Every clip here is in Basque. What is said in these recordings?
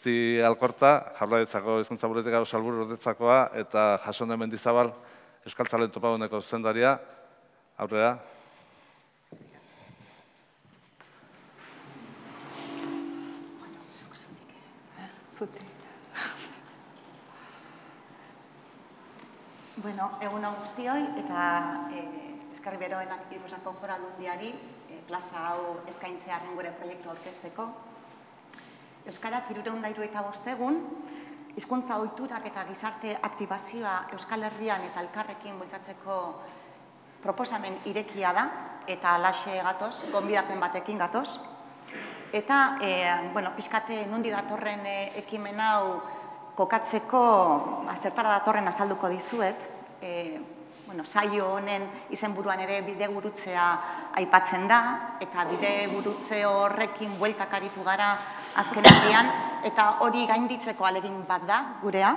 Uresti Alkorta, Jaurlaritzako Hizkuntza Politika Sailburu ordetzakoa, eta Jasone Mendizabal, Euskaltzaleen Topaguneko zuzendaria. Aurrera. Egun on guztioi, eta eskerrik beroenak Gipuzkoako Foru Aldundiari plaza hau eskaintzearen gure proiektu aurkezteko. Euskarak 375 egun, hizkuntza ohiturak eta gizarte aktibazioa Euskal Herrian eta elkarrekin bultzatzeko proposamen irekia da, eta halaxe gatoz, gonbidapen batekin gatoz. Eta, pixkate nundi datorren ekimen hau kokatzeko zertara datorren azalduko dizuet. Saio honen izenburuan ere bidegurutzea aipatzen da, eta bidegurutze horrekin bueltak aritu gara azken aldian, eta hori gainditzeko ahalegin bat da gurea.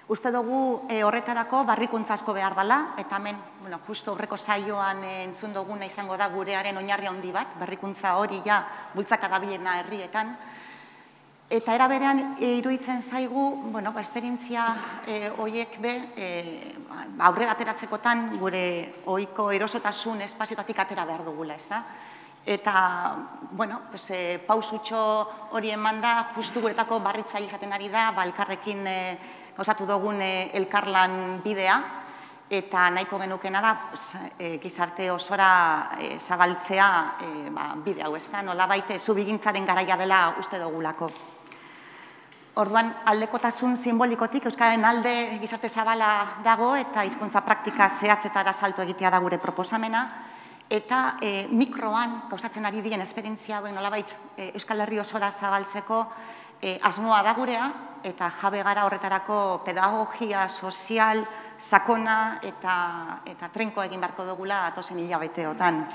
Uste dugu horretarako barrikuntza asko behar dela, eta hemen justu aurreko saioan entzun duguna izango da gurearen oinarri handi bat, berrikuntza hori ja bultzaka dabilena herrietan. Eta era berean iruditzen zaigu, esperientzia horiek aurrera ateratzekotan gure ohiko erosotasun espazioetatik atera behar dugula, ez da? Eta, pausutxo hori eman da, justu guretako barritzaile izaten ari da, elkarrekin gauzatu dugun elkarlan bidea, eta nahiko genukena da gizarte osora zabaltzea bide hau, ez da? Nolabait zubigintzaren garaia dela uste dugulako. Orduan, aldekotasun simbolikotik Euskararen alde gizarte zabala dago eta hizkuntza praktika zehatzetara salto egitea da gure proposamena. Eta mikroan gauzatzen ari diren esperientzia hauen nolabait Euskal Herri osora zabaltzeko asmoa da gurea, eta jabe gara horretarako pedagogia sozial, sakona eta trenko egin beharko dugula datozen hilabeteotan.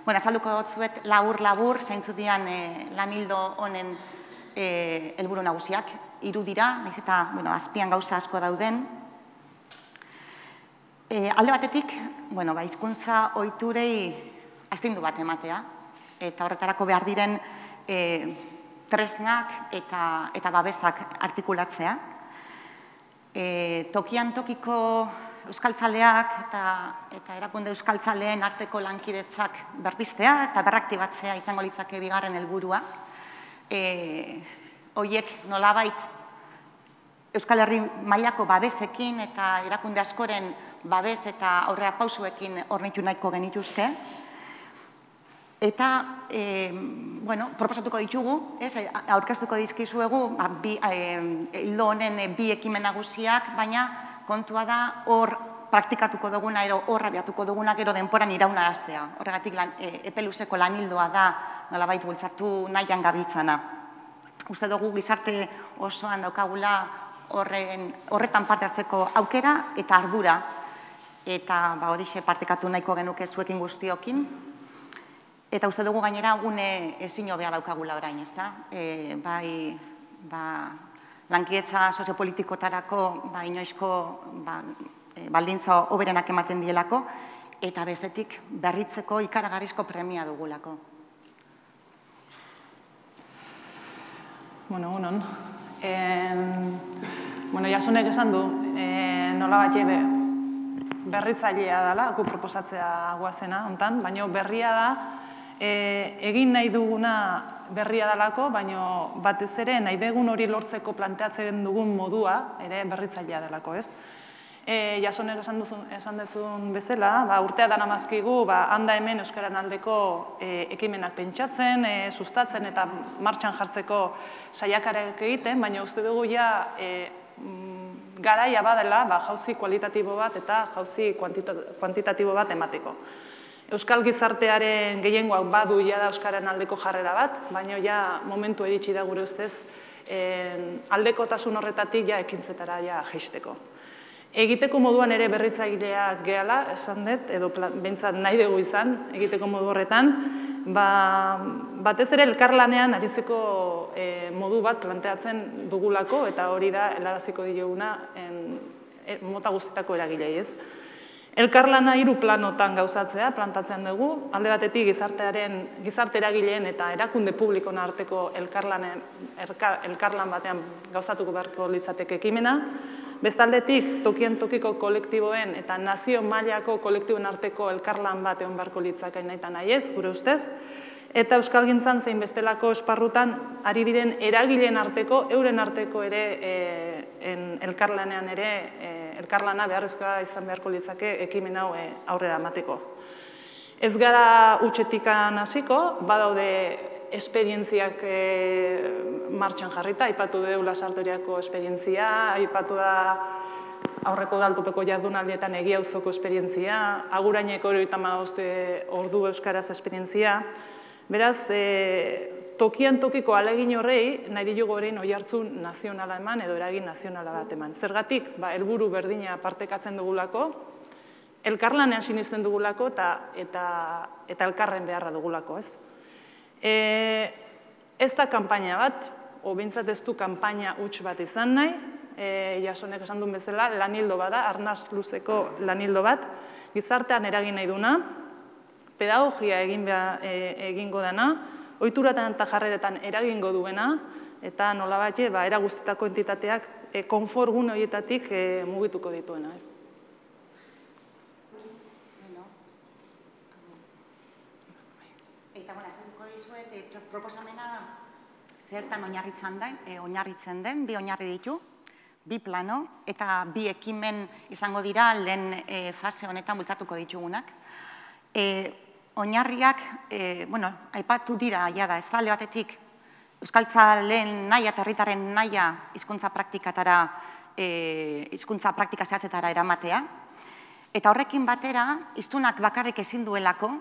Azalduko dut zuet labur-labur, zaintzu dian lan hildo honen helburu nagusiak, 3 dira, nahiz eta azpian gauza asko dauden. Alde batetik, hizkuntza ohiturei astindu bat ematea, eta horretarako behar diren tresnak eta babesak artikulatzea. Tokian tokiko euskaltzaleak eta erakunde euskaltzaleen arteko lankidetzak berpiztea eta berraktibatzea izango litzake bigarren helburua. Horiek nolabait Euskal Herri mailako babesekin eta erakunde askoren babes eta aurrera pausuekin hornitu nahiko genituzke. Eta, proposatuko ditugu, aurkeztuko dizkizuegu, hildo honen 2 ekimen nagusiak, baina kontua da hor praktikatuko duguna, hor abiatuko duguna, gero denporan iraunaraztea. Horregatik epe luzeko lan hildoa da, nolabait bultzatu nahian gabiltzana. Uste dugu gizarte osoan daukagula horretan parte hartzeko aukera eta ardura, eta horixe partekatu nahiko genuke zuekin guztiokin. Eta uste dugu gainera gune ezin hobea daukagula orain, ez da? Bai, lankidetza soziopolitikotarako inoizko baldintza hoberenak ematen dielako, eta bestetik berritzeko ikaragarrizko premia dugulako. Egunon. Jasonek esan du, nolabait berritzailea dela, gu proposatzea guazena, hontan, baina berria da, egin nahi duguna berria delako, baina batez ere nahi dugun hori lortzeko planteatzen dugun modua, ere berritzailea delako, ez? Jasonek esan dezun bezala, urtea dana mazkigu, handa hemen Euskaran aldeko ekimenak pentsatzen, sustatzen eta martxan jartzeko saiakarek egiten, baina uste dugu garaia badela jauzi kualitatibo bat eta jauzi kuantitatibo bat emateko. Euskal gizartearen gehiengoak badu da Euskaran aldeko jarrera bat, baina momentu iritsi da gure ustez aldekotasun horretatik ekintzetara jaisteko. Egiteko moduan ere berritzaileak gehala, esan dut, edo behintzat nahi dugu izan, egiteko modu horretan, batez ere elkarlanean aritzeko modu bat planteatzen dugulako, eta hori da helaraziko dioguna mota guztietako eragilei, ez? Elkarlana 3 planotan gauzatzea, plantatzen dugu, alde batetik gizarte eragileen eta erakunde publikoen arteko elkarlan batean gauzatuko beharko litzateke ekimena, bestaldetik tokian tokiko kolektiboen eta nazio mailako kolektiboen arteko elkarlan bat egon beharko litzake nahi eta nahi ez, gure ustez, eta euskalgintzan zein bestelako esparrutan ari diren eragileen arteko, euren arteko ere elkarlanean ere, elkarlana beharrezkoa izan beharko litzake ekimen hau aurrera emateko. Ez gara hutsetikan hasiko, badaude esperientziak martxan jarrita, aipatu dugu Lasartoriako esperientzia, aipatu da aurreko udaltopeko jardunaldietan Egiauzoko esperientzia, Aguraineko 75 ordu euskaraz esperientzia. Beraz, tokian tokiko ahalegin horrei, nahi ditugu orain oihartzun nazionala eman edo eragin nazionala bat eman. Zergatik, helburu berdina partekatzen dugulako, elkarlanean sinisten dugulako eta elkarren beharra dugulako, ez? Ez da kanpaina bat, o bintzat ez du kanpaina huts bat izan nahi, Jasonek esan duen bezala, lanildo bat da, arnaz luzeko lanildo bat, gizartean eragin nahi duna, pedagogia egingo dena, ohituratan eta jarreretan eragingo duena, eta nolabait era guztietako entitateak konfort gune horietatik mugituko dituena, ez? Eta, esango dizuet, proposamena zertan oinarritzen den, 2 oinarri ditu, 2 plano, eta 2 ekimen izango dira lehen fase honetan bultzatuko ditugunak. Oinarriak, aipatu dira, jada, ez talde batetik, euskaltzaleen nahia eta herritarren nahia hizkuntza praktikatara, hizkuntza praktika zehatzetara eramatea, eta horrekin batera, hiztunak bakarrik ezin duelako,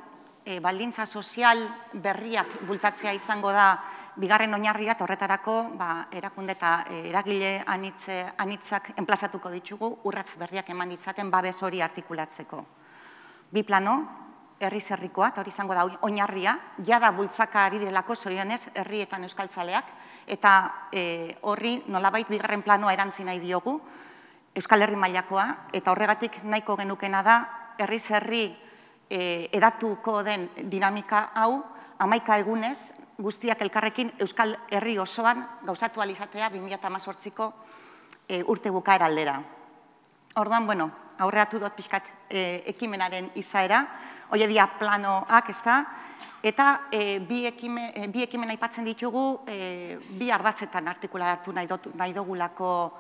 baldintza sozial berriak bultzatzea izango da bigarren oinarria, eta horretarako erakunde eta eragile anitzak enplazatuko ditugu, urratz berriak eman ditzaten babes hori artikulatzeko. 2 plano, herri-zerrikoa, eta hori izango da oinarria, jada bultzaka ari direlako zorionez herrietan euskaltzaleak, eta horri nolabait bigarren planoa erantzi nahi diogu, Euskal Herri mailakoa, eta horregatik nahiko genukena da, herri-zerri edatuko den dinamika hau, 11 egunez, guztiak elkarrekin Euskal Herri osoan gauzatu alizatea 2018ko urte bukaera aldera. Orduan, aurreatu dut pixkat ekimenaren izaera, hori dira planoak, ez da, eta 2 ekimen aipatzen ditugu, 2 ardatzetan artikulatu nahi dugulako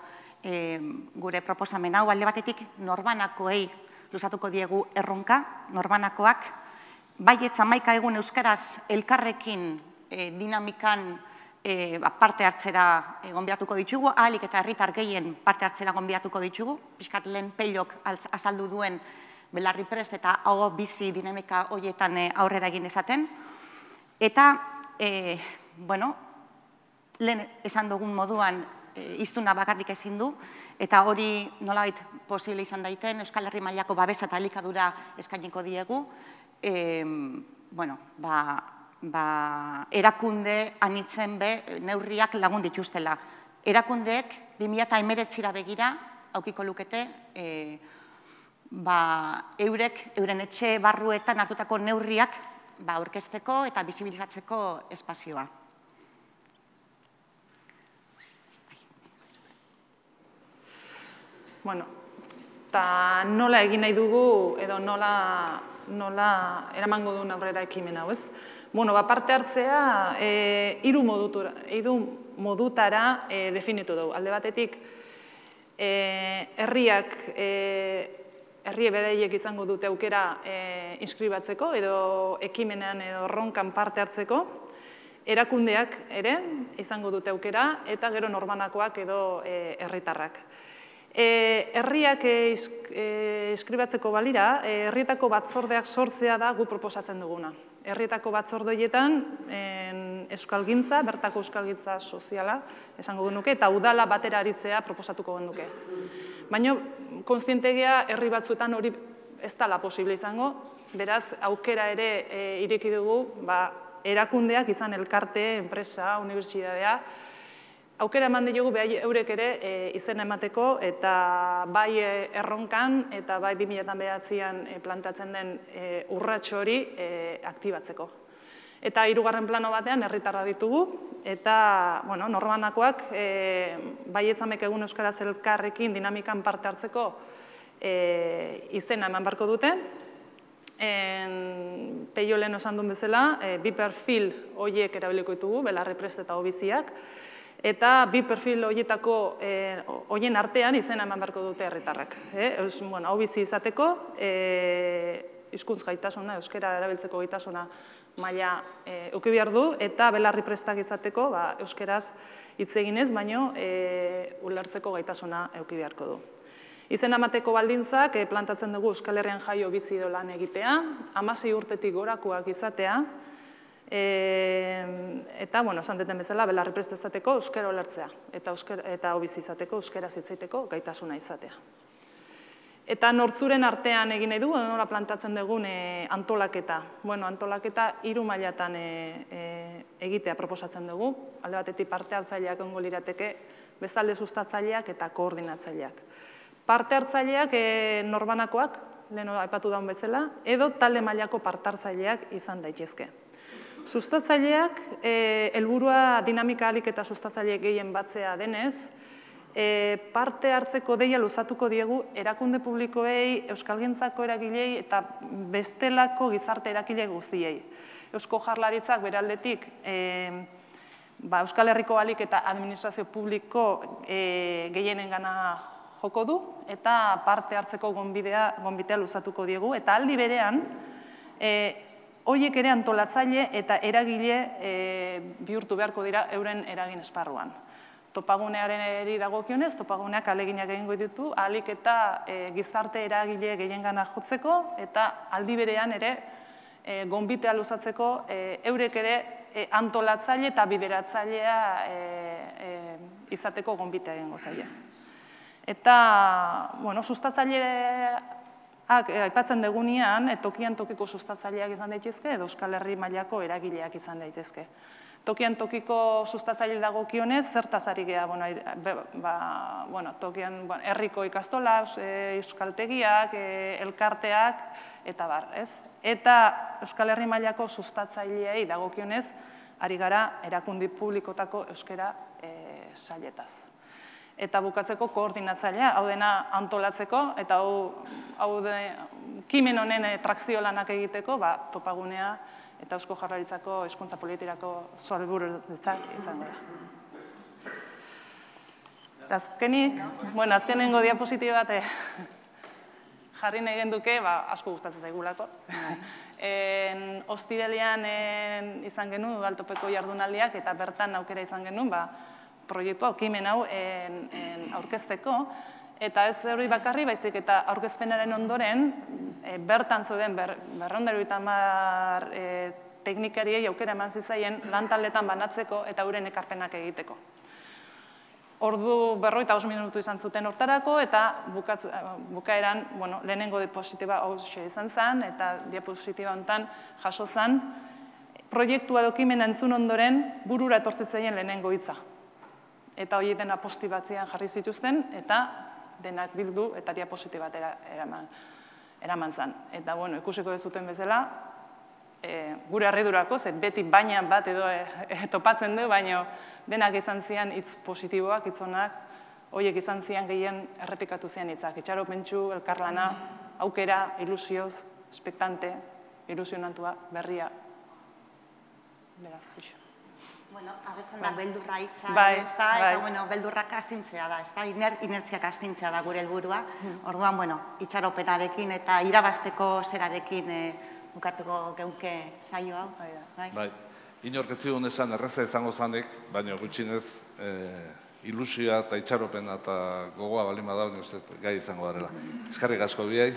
gure proposamen hau, alde batetik norbanakoei luzatuko diegu erronka, norbanakoak, baietz 11 egun euskaraz elkarrekin dinamikan parte hartzera gonbidatuko ditugu, ahalik eta herritar gehien parte hartzera gonbidatuko ditugu, pixkat lehen Peilok azaldu duen belarri prest eta hau bizi dinamika horietan aurrera egin dezaten. Eta, lehen esan dugun moduan hiztuna bakarrik ezin du, eta hori nolabait posible izan daiten, Euskal Herri mailako babesa eta elikadura eskainiko diegu, erakunde anitzen neurriak lagun dituztela. Erakundeek 2019 begira aukiko lukete euren etxe barruetan hartutako neurriak aurkezteko eta bisibilizatzeko espazioa. Eta nola egin nahi dugu edo nola eramango duen aurrera ekimen hau, ez? Parte hartzea 3 modutara definitu dugu. Alde batetik, herri beraiek izango dute aukera inskribatzeko edo ekimenean edo erronkan parte hartzeko, erakundeak ere izango dute aukera eta gero norbanakoak edo herritarrak. Herriak inskribatzeko balira, herrietako batzordeak sortzea da gu proposatzen duguna. Herrietako batzordoietan euskalgintza, bertako euskalgintza soziala esango genuke, eta udala batera aritzea proposatuko genuke. Baina, konstientegia herri batzuetan hori ez dela posible izango, beraz, aukera ere ireki dugu, erakundeak izan elkarte, enpresa, unibertsitatea, aukera eman diogu eurek ere izena emateko eta bai erronkan eta bai 2009an plantatzen den urrats hori aktibatzeko. Eta 3. plano batean herritarra ditugu eta norbanakoak Baietzamek egun euskaraz elkarrekin dinamikan parte hartzeko izena eman beharko dute. Peio lehen esan duen bezala, bi perfil horiek erabiliko ditugu, Belarriprest eta Obiziak, eta bi perfil horien artean izena eman beharko dute herritarrak. Obizi izateko, hizkuntz gaitasuna, euskara erabiltzeko gaitasuna maila eduki behar du, eta Belarriprestak izateko euskaraz hitz eginez, baino ulertzeko gaitasuna eduki beharko du. Izena emateko baldintzak plantatzen dugu Euskal Herrian jaio bizi edo lan egitea, 16 urtetik gorakoak izatea, eta, esan deten bezala, Belarriprest izateko euskara ulertzea, eta Obizi izateko euskaraz hitz egiteko gaitasuna izatea. Eta nortzuren artean egin nahi du, nola plantatzen dugun antolaketa. Antolaketa 3 mailatan egitea proposatzen dugu, alde batetik parte hartzaileak egongo lirateke, bestalde sustatzaileak eta koordinatzaileak. Parte hartzaileak norbanakoak, lehen aipatu daun bezala, edo talde mailako parte hartzaileak izan daitezke. Sustatzaileak, helburua dinamika ahalik eta sustatzaileek gehien batzea denez, parte hartzeko deia luzatuko diegu erakunde publikoei, euskalgintzako eragilei eta bestelako gizarte eragile guztiei. Eusko Jaurlaritzak beraldetik Euskal Herriko ahalik eta administrazio publiko gehienengana joko du eta parte hartzeko gonbitea luzatuko diegu eta aldi berean horiek ere antolatzaile eta eragile bihurtu beharko dira euren eragin esparruan. Topagunearen dagokionez, topaguneak ahaleginak egingo ditu, ahalik eta gizarte eragile gehiengana jotzeko eta aldi berean ere gonbitea luzatzeko eurek ere antolatzaile eta bideratzailea izateko gonbitea egingo zaie. Eta, sustatzaileak aipatzen degunean, tokian tokiko sustatzaileak izan daitezke, edo Euskal Herri mailako eragileak izan daitezke. Tokian tokiko sustatzaile dagokionez, zertaz ari geha, tokian herriko ikastola, euskaltegiak, elkarteak, eta bar, ez? Eta Euskal Herri mailako sustatzaileei dagokionez, ari gara erakundi publikotako euskara sailetaz. Eta bukatzeko koordinatzailea, hau dena antolatzeko, eta hau kimen honen trakzio lanak egiteko, topagunea eta Eusko Jaurlaritzako hezkuntza politikako sailburutzak izango da. Azkenengo diapositiba bat jarri nahi genduke, asko gustatzen zaigulako. Ostiralean izan genuen udaltopeko jardunaldiak eta bertan aukera izan genuen, proiektua, okimen hau aurkezteko, eta ez hori bakarri, baizik eta aurkezpenaren ondoren, bertan zeuden 250 teknikariei aukera eman zitzaien lantaldetan banatzeko eta euren ekarpenak egiteko. Ordu 45 minutu izan zuten hortarako, eta bukaeran, lehenengo diapositiba hauxe izan zen, eta diapositiba honetan jaso zen, proiektua dokimena entzun ondoren burura etortzen zaien lehenengo hitza. Eta hori dena posti batzean jarri zituzten, eta denak bildu eta diapositiba eraman zen. Eta, ikusiko dezuten bezala, gure harridurako, beti baina bat edo topatzen du, baina denak izan zian hitz positiboak, hitz onak, horiek izan zian gehien errepikatu zian hitzak. Itxaropentsu, elkarlana, aukera, ilusioz, espektante, ilusionantua, berria. Beraz, zuxo. Agertzen da, beldurra hitza, eta beldurrak astintzea da, inertziak astintzea da gure helburua. Orduan, itxaropenarekin eta irabazteko zerarekin bukatuko geunke saio hau. Bai, inorketzigun esan erreza izango zanik, baina gutxinez ilusioa eta itxaropena eta gogoa balima da, gai izango garela. Eskerrik asko biai.